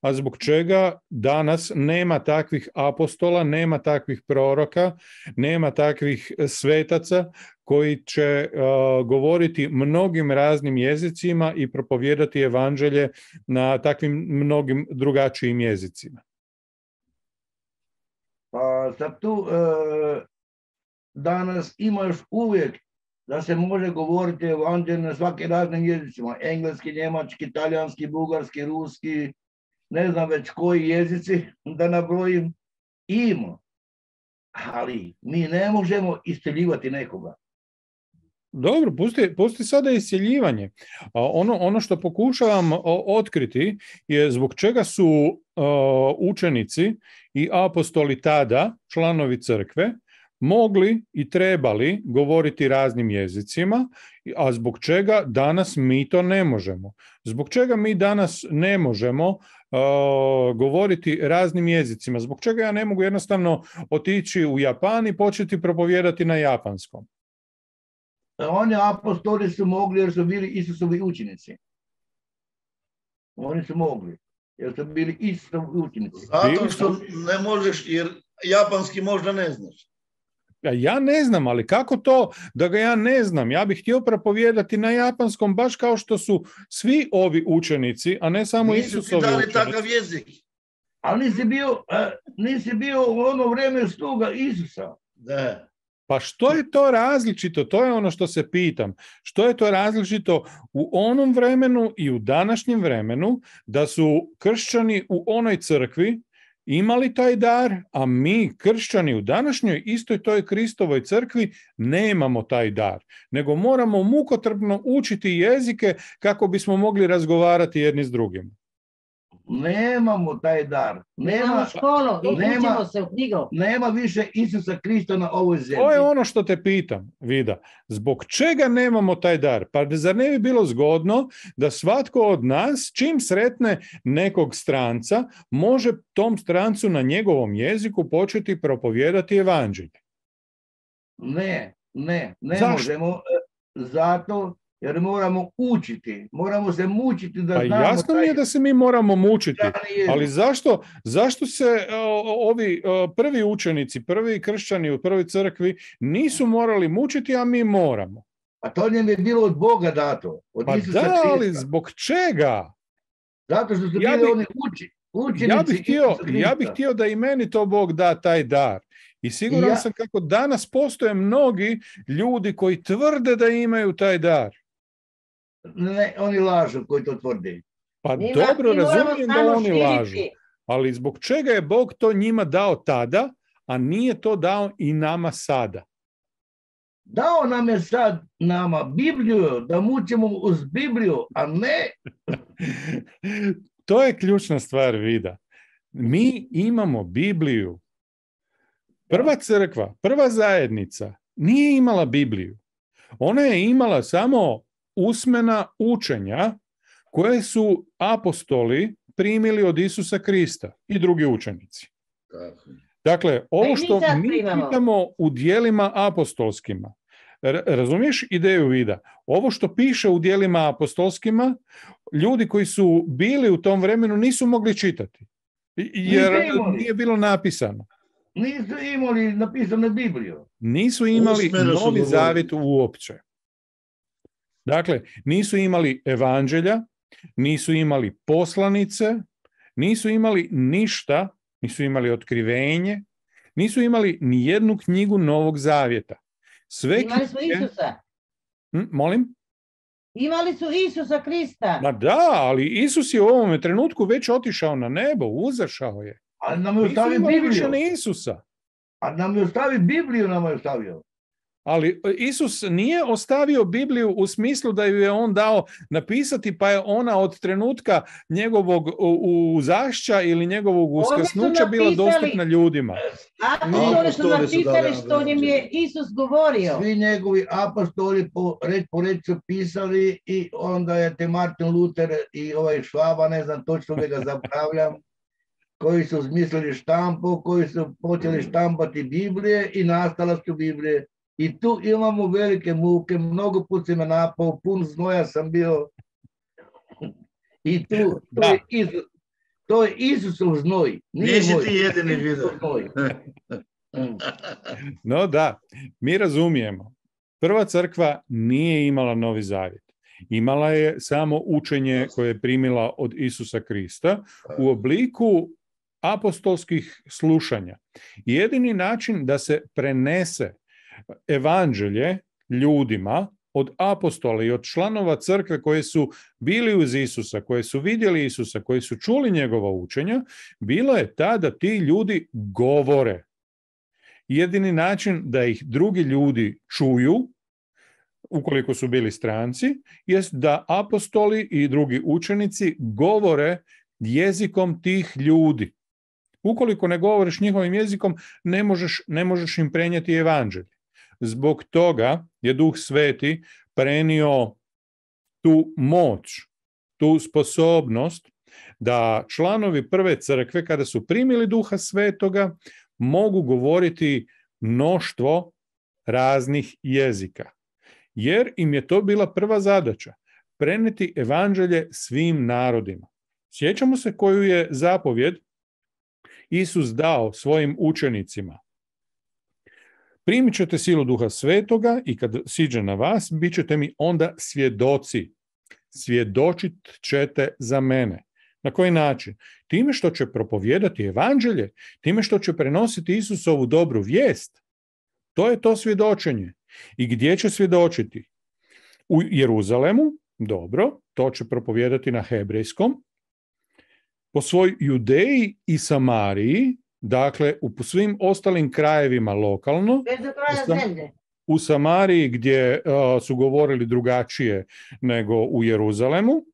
a zbog čega danas nema takvih apostola, nema takvih proroka, nema takvih svetaca koji će govoriti mnogim raznim jezicima i propovijedati evanđelje na takvim mnogim drugačijim jezicima. Pa sad tu danas ima još uvijek da se može govoriti evanđelje na svake raznim jezicima. Engleski, njemački, talijanski, bugarski, ruski, ne znam već koji jezici da nabrojim. Ima. Ali mi ne možemo isteljivati nekoga. Dobro, pusti sada isceljivanje. Ono što pokušavam otkriti je zbog čega su učenici i apostoli tada, članovi crkve, mogli i trebali govoriti raznim jezicima, a zbog čega danas mi to ne možemo. Zbog čega mi danas ne možemo govoriti raznim jezicima. Zbog čega ja ne mogu jednostavno otići u Japan i početi propovijedati na japanskom. Oni apostoli su mogli jer su bili Isusovi učenici. Oni su mogli jer su bili Isusovi učenici. Zato što ne možeš jer japanski možda ne znaš. Ja ne znam, ali kako to da ga ja ne znam? Ja bih htio propovijedati na japanskom baš kao što su svi ovi učenici, a ne samo Isusovi učenici. Nisu ti dali takav jezik. Ali nisi bio u ono vrijeme sluga Isusa. Da. Pa što je to različito? To je ono što se pitam. Što je to različito u onom vremenu i u današnjem vremenu da su kršćani u onoj crkvi imali taj dar, a mi kršćani u današnjoj istoj toj Kristovoj crkvi nemamo taj dar, nego moramo mukotrpno učiti jezike kako bismo mogli razgovarati jedni s drugim. Nemamo taj dar. Nemamo školu i učimo se u knjigu. Nema više Isusa Krista na ovoj zemlji. To je ono što te pitam, Vida. Zbog čega nemamo taj dar? Pa zar ne bi bilo zgodno da svatko od nas, čim sretne nekog stranca, može tom strancu na njegovom jeziku početi propovijedati evanđelje? Ne Zašto? možemo. Zato jer moramo učiti, moramo se mučiti da znamo. Jasno mi je da se mi moramo mučiti, ali zašto se ovi prvi učenici, prvi kršćani u prvoj crkvi nisu morali mučiti, a mi moramo? A to njem je bilo od Boga dato, od Isusa Krista. Ali zbog čega? Zato što su bili oni učenici ja bih htio da i meni to Bog da taj dar. I siguran sam kako danas postoje mnogi ljudi koji tvrde da imaju taj dar. Ne, oni lažu koji to tvrde. Pa dobro, razumijem da oni lažu. Ali zbog čega je Bog to njima dao tada, a nije to dao i nama sada? Dao nam je sad nama Bibliju, da mučimo uz Bibliju, a ne... To je ključna stvar, Vida. Mi imamo Bibliju. Prva crkva, prva zajednica nije imala Bibliju. Ona je imala samo usmena učenja koje su apostoli primili od Isusa Krista i drugi učenici. Dakle, ovo što mi pitamo u djelima apostolskima, razumiješ ideju, Vida? Ovo što piše u djelima apostolskima, ljudi koji su bili u tom vremenu nisu mogli čitati, jer nije bilo napisano. Nisu imali napisane Bibliju. Nisu imali Usmeno su Novi govorili. Zavjet uopće. Dakle, nisu imali evanđelja, nisu imali poslanice, nisu imali ništa, nisu imali otkrivenje, nisu imali ni jednu knjigu Novog Zavjeta. Sve Imali su knjige- Isusa. Molim? Imali su Isusa Krista. Ma da, ali Isus je u ovome trenutku već otišao na nebo, uzašao je. Ali nam je Nisu ostavio imali više Bibliju. ni Isusa. A nam je ostavio Bibliju, nam je ostavio. Ali Isus nije ostavio Bibliju u smislu da ju je on dao napisati, pa je ona od trenutka njegovog uzašća ili njegovog Oni su uskrsnuća bila napisali- dostupna ljudima. Apostoli su Apostoli su napisali dali što im je Isus govorio. Svi njegovi apostoli po reč su pisali i onda je te Martin Luther i ovaj Švaba, ne znam točno ga zapravljam, koji su smislili štampu, koji su počeli štampati Biblije i nastala su Biblije. I tu imamo velike muke, mnogo put se me napao, pun znoja sam bio. I to je Isusov znoj. Nije Nisi moj. ti jedini Isusov vidio. znoj. No da, mi razumijemo. Prva crkva nije imala Novi Zavjet. Imala je samo učenje koje je primila od Isusa Krista u obliku apostolskih slušanja. Jedini način da se prenese evanđelje ljudima od apostola i od članova crkve koji su bili uz Isusa, koji su vidjeli Isusa, koji su čuli njegova učenja, bilo je ta da ti ljudi govore. Jedini način da ih drugi ljudi čuju, ukoliko su bili stranci, jest da apostoli i drugi učenici govore jezikom tih ljudi. Ukoliko ne govoriš njihovim jezikom, ne možeš im prenijeti evanđelje. Zbog toga je Duh Sveti prenio tu moć, tu sposobnost da članovi prve crkve, kada su primili Duha Svetoga, mogu govoriti mnoštvo raznih jezika. Jer im je to bila prva zadaća, prenijeti evanđelje svim narodima. Sjećamo se koju je zapovjed Isus dao svojim učenicima. Primit ćete silu Duha Svetoga i kad siđe na vas, bit ćete mi onda svjedoci. Svjedočit ćete za mene. Na koji način? Time što će propovijedati evanđelje, time što će prenositi Isusovu dobru vijest. To je to svjedočenje. I gdje će svjedočiti? U Jeruzalemu, dobro, to će propovijedati na hebrejskom, po svoj Judeji i Samariji, dakle u svim ostalim krajevima lokalno, Bez do kraja zemlje. u Samariji gdje su govorili drugačije nego u Jeruzalemu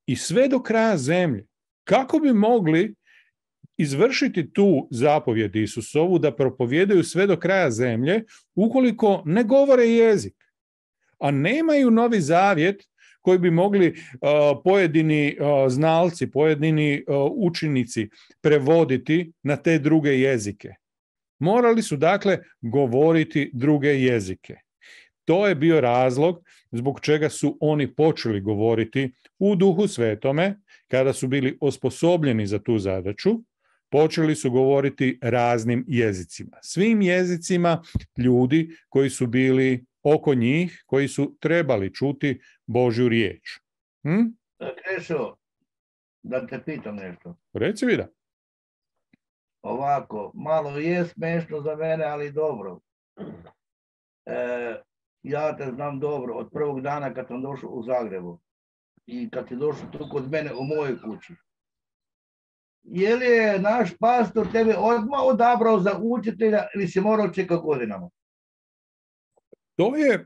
i sve do kraja zemlje. Kako bi mogli izvršiti tu zapovjed Isusovu da propovijedaju sve do kraja zemlje ukoliko ne govore jezik, a nemaju Novi Zavjet koji bi mogli pojedini znalci, pojedini učenici prevoditi na te druge jezike. Morali su dakle govoriti druge jezike. To je bio razlog zbog čega su oni počeli govoriti u Duhu Svetome, kada su bili osposobljeni za tu zadaću, počeli su govoriti raznim jezicima. Svim jezicima ljudi koji su bili oko njih, koji su trebali čuti Božju riječ. Krešo, da te pitam nešto. Reci mi da. Ovako, malo je smešno za mene, ali dobro. Ja te znam dobro od prvog dana kad sam došao u Zagrebu i kad si došao tu kod mene u mojoj kući. Je li je naš pastor tebe odmah odabrao za učitelja ili si morao čekati godinama? To je,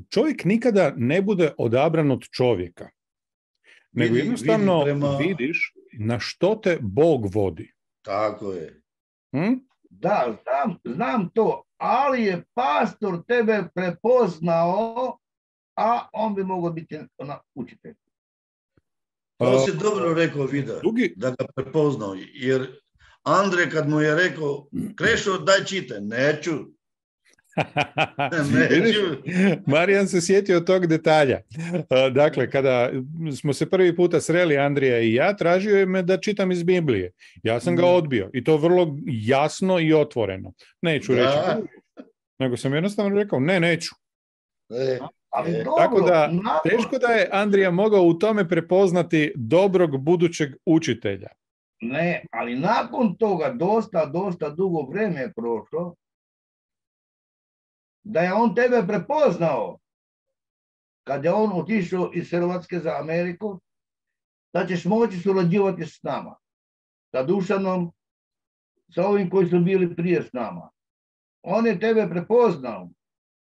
čovjek nikada ne bude odabran od čovjeka, nego jednostavno vidiš na što te Bog vodi. Tako je. Da, znam to, ali je pastor tebe prepoznao, a on bi mogao biti učitelj. To si dobro rekao, Vida, da ga prepoznao, jer Andrej kad mu je rekao, Krešo, daj čite, neću. Vidiš, Marijan se sjetio tog detalja. Dakle, kada smo se prvi puta sreli, Andrija i ja, tražio je me da čitam iz Biblije. Ja sam ga odbio i to vrlo jasno i otvoreno. Neću reći, nego sam jednostavno rekao, neću. Ali dobro, tako da, teško da je Andrija mogao u tome prepoznati dobrog budućeg učitelja. Ne, ali nakon toga dosta dugo vreme je prošlo, da je on tebe prepoznao kad je on otišao iz Hrvatske za Ameriku, da ćeš moći surađivati s nama, sa Dušanom, sa ovim koji su bili prije s nama. On je tebe prepoznao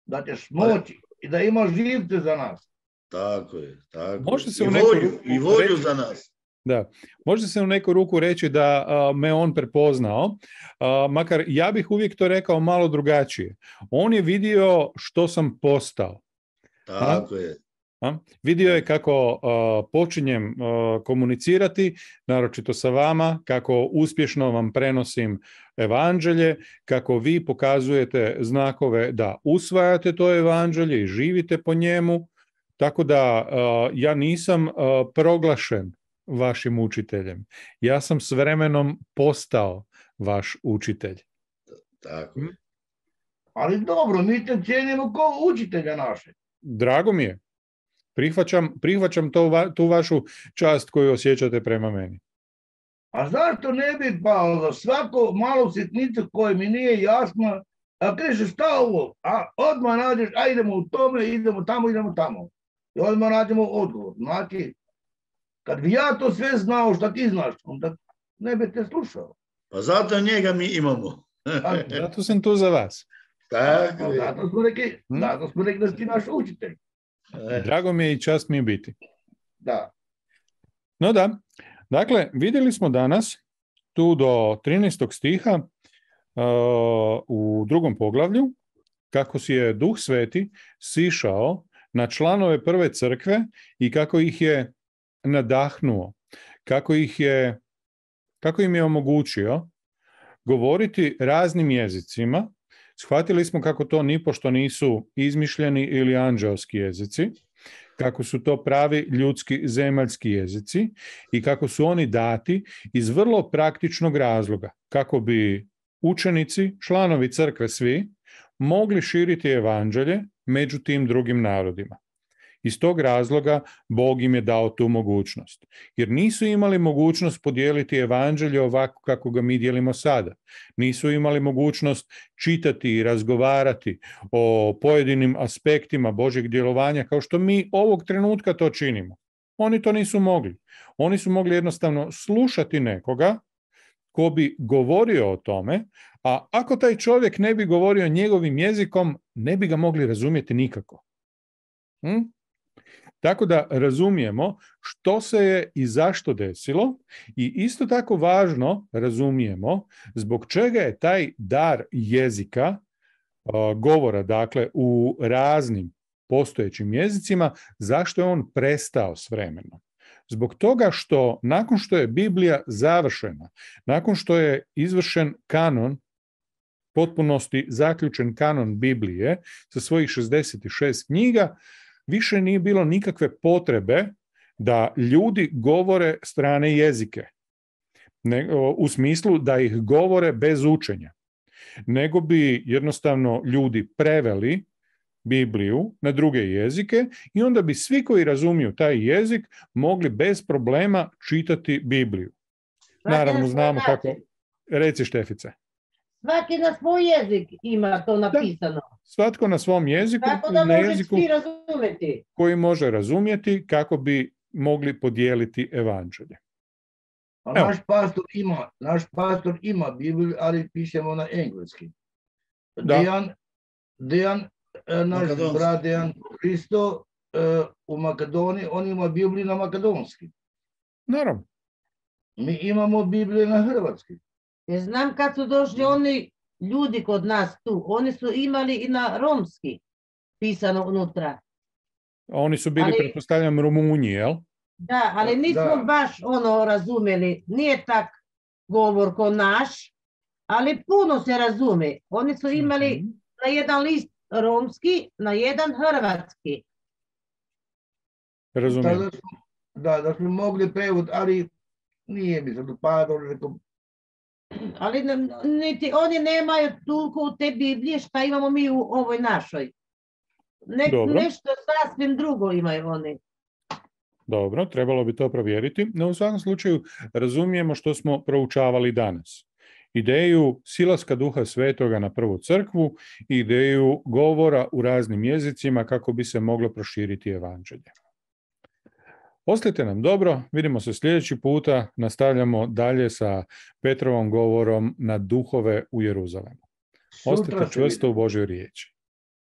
da ćeš moći i da imaš živce za nas. Tako je, tako. Može se I volju za nas. Da, može se u neku ruku reći da me on prepoznao, makar ja bih uvijek to rekao malo drugačije. On je vidio što sam postao. Tako je. Vidio je kako počinjem komunicirati, naročito sa vama, kako uspješno vam prenosim evanđelje, kako vi pokazujete znakove da usvajate to evanđelje i živite po njemu, tako da ja nisam proglašen vašim učiteljem. Ja sam s vremenom postao vaš učitelj. Tako je. Ali dobro, mi te cijenimo kao učitelja naše. Drago mi je. Prihvaćam tu vašu čast koju osjećate prema meni. A zašto ne bi pa svako malo sitnicu koje mi nije jasno, a kažeš šta ovo, a odmah nađeš, a idemo u tome, idemo tamo. I odmah nađemo odgovor. Znači, kad bi ja to sve znao što ti znaš, onda ne bi te slušao. Pa zato njega mi imamo. Zato sam tu za vas. Tako je. Zato smo rekli da si ti naš učitelj. Drago mi je i čast mi je biti. Da. No da, dakle, vidjeli smo danas tu do 13. stiha u 2. poglavlju kako si je Duh Sveti sišao na članove prve crkve i kako ih je nadahnuo, kako im je omogućio govoriti raznim jezicima. Shvatili smo kako to nipošto nisu izmišljeni ili anđeoski jezici, kako su to pravi ljudski zemaljski jezici i kako su oni dati iz vrlo praktičnog razloga, kako bi učenici, članovi crkve svi, mogli širiti evanđelje među tim drugim narodima. Iz tog razloga Bog im je dao tu mogućnost. Jer nisu imali mogućnost podijeliti evanđelje ovako kako ga mi dijelimo sada. Nisu imali mogućnost čitati i razgovarati o pojedinim aspektima Božjeg djelovanja kao što mi ovog trenutka to činimo. Oni to nisu mogli. Oni su mogli jednostavno slušati nekoga ko bi govorio o tome, a ako taj čovjek ne bi govorio njegovim jezikom, ne bi ga mogli razumjeti nikako. Tako da razumijemo što se je i zašto desilo i isto tako važno razumijemo zbog čega je taj dar jezika, govora, dakle u raznim postojećim jezicima, zašto je on prestao s vremenom. Zbog toga što nakon što je Biblija završena, nakon što je izvršen kanon, potpunosti zaključen kanon Biblije sa svojih 66 knjiga, više nije bilo nikakve potrebe da ljudi govore strane jezike, u smislu da ih govore bez učenja, nego bi jednostavno ljudi preveli Bibliju na druge jezike i onda bi svi koji razumiju taj jezik mogli bez problema čitati Bibliju. Naravno, znamo kako... Reci, Štefice. Svaki na svoj jezik ima to napisano. Da, svatko na svom jeziku, tako da na jeziku svi razumjeti. Koji može razumjeti kako bi mogli podijeliti evanđelje. Naš pastor ima Bibliju, ali pišemo na engleski. Dejan, naš brat Dejan Hristo u Makedoniji, on ima Bibliju na makedonski. Naravno. Mi imamo Bibliju na hrvatski. Ja znam kad su došli oni ljudi kod nas tu, oni su imali i na romski pisano unutra. Oni su bili, pretpostavljam, Rumunji, jel? Da, ali nismo baš razumjeli. Nije tak govor ko naš, ali puno se razume. Oni su imali na jedan list romski, na jedan hrvatski. Razumijem. Da smo mogli prevod, ali nije mi sad upadalo. Ali niti oni nemaju toliko u te Biblije šta imamo mi u ovoj našoj. Nešto sasvim drugo imaju oni. Dobro, trebalo bi to provjeriti, no u svakom slučaju razumijemo što smo proučavali danas. Ideju silaska Duha Svetoga na prvu crkvu i ideju govora u raznim jezicima kako bi se moglo proširiti evanđelje. Ostajte nam dobro, vidimo se sljedeći puta, nastavljamo dalje sa Petrovom govorom na duhove u Jeruzalemu. Ostajte čvrsto u Božjoj riječi.